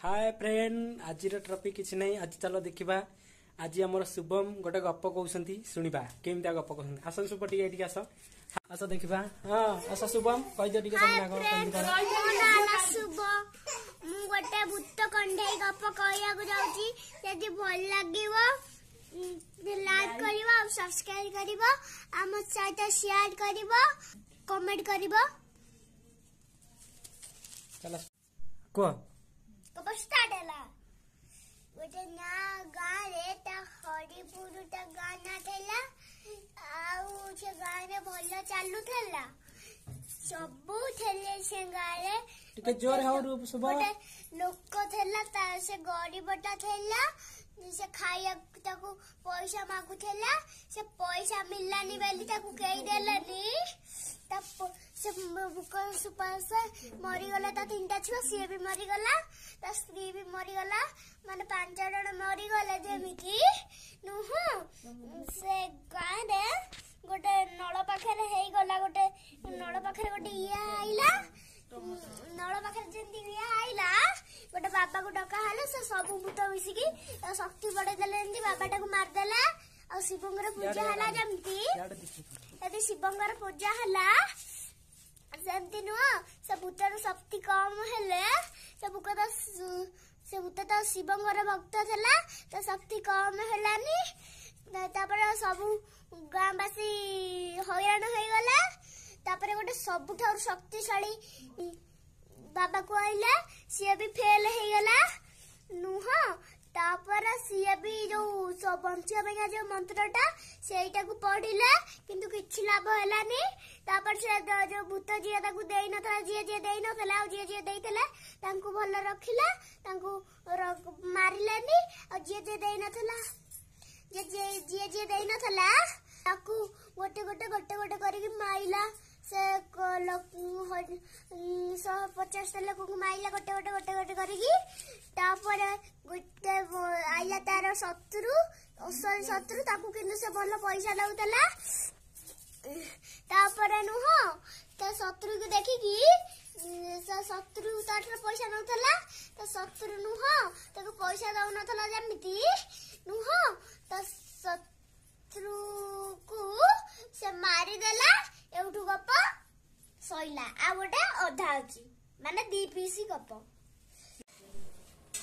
ହାଏ friend, ଆଜିର topic କିଛି ନାହିଁ। ଆଜି ଚାଲ ଦେଖିବା, ଆଜି ଆମର ଶୁଭମ ଗୋଟେ ଗପ କହୁଛନ୍ତି, ଶୁଣିବା କେମିତିଆ ଗପ କହୁଛନ୍ତି। ଆସ ଶୁଭ, ଟିକେ ଏଇଠିକି ଆସ, ଆସ ଦେଖିବା। ହଁ ଆସ ଶୁଭମ, କହିଦିଅ ଟିକେ ତମ ନାଁ କଣ, କେମିତି କଣ। ମୋ ନାଁ ହେଲା ଶୁଭ। ମୁଁ ଗୋଟେ ଭୂତ କଣ୍ଢେଇ ଗପ କହିବାକୁ ଯାଉଛି। ଯଦି ଭଲ ଲାଗିବ ଲାଇକ୍ କରିବ ଆଉ ସବସ୍କ୍ରାଇବ କରିବ, ଆମ ସହିତ ସେୟାର କରିବ, କମେଣ୍ଟ କରିବ। ଚାଲ କୁହ। ଗପ ଷ୍ଟାର୍ଟ ହେଲା। ଗୋଟେ ନା ଗାଁରେ ତା ହରିପୁର ତା ଗାଁ ନାଁ ଥିଲା, ଆଉ ସେ ଗାଁରେ ଭଲ ଚାଲୁଥିଲା, ସବୁ ଥିଲେ ସେ ଗାଁରେ। ଟିକେ ଜୋରେ ହଉ ଶୁଭ। ଗୋଟେ ଲୋକ ଥିଲା, ତା ସେ ଗରିବଟା ଥିଲା। ସେ ଖାଇବାକୁ ତାକୁ ପଇସା ମାଗୁଥିଲା, ସେ ପଇସା ମିଳିଲାନି ବୋଲି ତାକୁ କେହି ଦେଲେନି। ତା ସେ ସୁପାସ ମରିଗଲା, ତା 3ଟା ଛୁଆ ସିଏ ବି ମରିଗଲା, ତା ସ୍ତ୍ରୀ ବି ମରିଗଲା, ମାନେ 5 ଜଣ ମରିଗଲେ। ଯେମିତି ନୁହଁ, ସେ ଗାଁରେ ଗୋଟେ ନଳ ପାଖରେ ହେଇଗଲା, ଗୋଟେ ନଳ ପାଖରେ ଗୋଟେ ଇଏ ଆଇଲା। ନଳ ପାଖରେ ଯେମିତି ଇଏ ଆଇଲା, ଗୋଟେ ବାବାକୁ ଡକା ହେଲା। ସେ ସବୁ ଭୂତ ମିଶିକି ଶକ୍ତି ବଢେଇ ଦେଲେ, ଏମିତି ବାବାଟାକୁ ମାରିଦେଲା। ଆଉ ଶିବଙ୍କର ପୂଜା ହେଲା ଯେମିତି, ଯଦି ଶିବଙ୍କର ପୂଜା ହେଲା ସେମିତି ନୁହଁ, ସେ ଭୂତର ଶକ୍ତି କମ ହେଲେ, ସେ ଭୂତ ସେ ଭୂତ ତ ଶିବଙ୍କର ଭକ୍ତ ଥିଲା, ତା ଶକ୍ତି କମ ହେଲାନି। ତାପରେ ସବୁ ଗାଁବାସୀ ହଇରାଣ ହେଇଗଲା। ତାପରେ ଗୋଟେ ସବୁଠାରୁ ଶକ୍ତିଶାଳୀ ବାବାକୁ ଆଇଲା, ସିଏ ବି ଫେଲ ହେଇଗଲା ନୁହଁ। ତାପରେ ସିଏ ବି ଯୋଉ ବଞ୍ଚିବା ପାଇଁକା ଯୋଉ ମନ୍ତ୍ରଟା ସେଇଟାକୁ ପଢିଲା, କିନ୍ତୁ କିଛି ଲାଭ ହେଲାନି। ତାପରେ ସେ ଯୋଉ ଭୂତ ଯିଏ ତାକୁ ଦେଇନଥିଲା, ଯିଏ ଯିଏ ଦେଇନଥିଲା ଆଉ ଯିଏ ଯିଏ ଦେଇଥିଲା ତାଙ୍କୁ ଭଲ ରଖିଲା, ତାଙ୍କୁ ମାରିଲାନି। ଆଉ ଯିଏ ଯିଏ ଦେଇନଥିଲା, ଯିଏ ଯିଏ ଦେଇନଥିଲା ତାକୁ ଗୋଟେ ଗୋଟେ ଗୋଟେ ଗୋଟେ କରିକି ମାଇଲା। ସେ 150ଟା ଲୋକଙ୍କୁ ମାଇଲା ଗୋଟେ ଗୋଟେ ଗୋଟେ ଗୋଟେ କରିକି। ତାପରେ ଗୋଟେ ଆଇଲା ତାର ଶତ୍ରୁ, ଅସଲି ଶତ୍ରୁ, ତାକୁ କିନ୍ତୁ ସେ ଭଲ ପଇସା ଦଉଥିଲା। ତାପରେ ନୁହଁ, ତା ଶତ୍ରୁକୁ ଦେଖିକି, ସେ ଶତ୍ରୁ ତାଠାରୁ ପଇସା ନଉଥିଲା, ତା ଶତ୍ରୁ ନୁହଁ ତାକୁ ପଇସା ଦଉନଥିଲା। ଯେମିତି ନୁହଁ, ତା ଶତ୍ରୁକୁ ସେ ମାରିଦେଲା। ଏଉଠୁ ଗପ ସଇଲା। ଆଉ ଗୋଟେ ଅଧା ଅଛି, ମାନେ 2 ପିସ୍ ଗପ।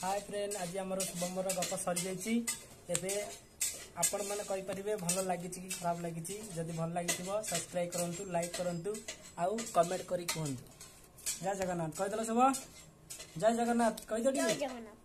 ହାଏ ଫ୍ରେଣ୍ଡ, ଆଜି ଆମର ଶୁଭମର ଗପ ସରିଯାଇଛି। ଏବେ ଆପଣମାନେ କହିପାରିବେ ଭଲ ଲାଗିଛି କି ଖରାପ ଲାଗିଛି। ଯଦି ଭଲ ଲାଗିଥିବ ସବସ୍କ୍ରାଇବ କରନ୍ତୁ, ଲାଇକ୍ କରନ୍ତୁ ଆଉ କମେଣ୍ଟ କରି କୁହନ୍ତୁ। ଜୟ ଜଗନ୍ନାଥ କହିଦେଲ ଶୁଭ, ଜୟ ଜଗନ୍ନାଥ କହିଦିଅ ଟିକେ। ଜୟ ଜଗନ୍ନାଥ।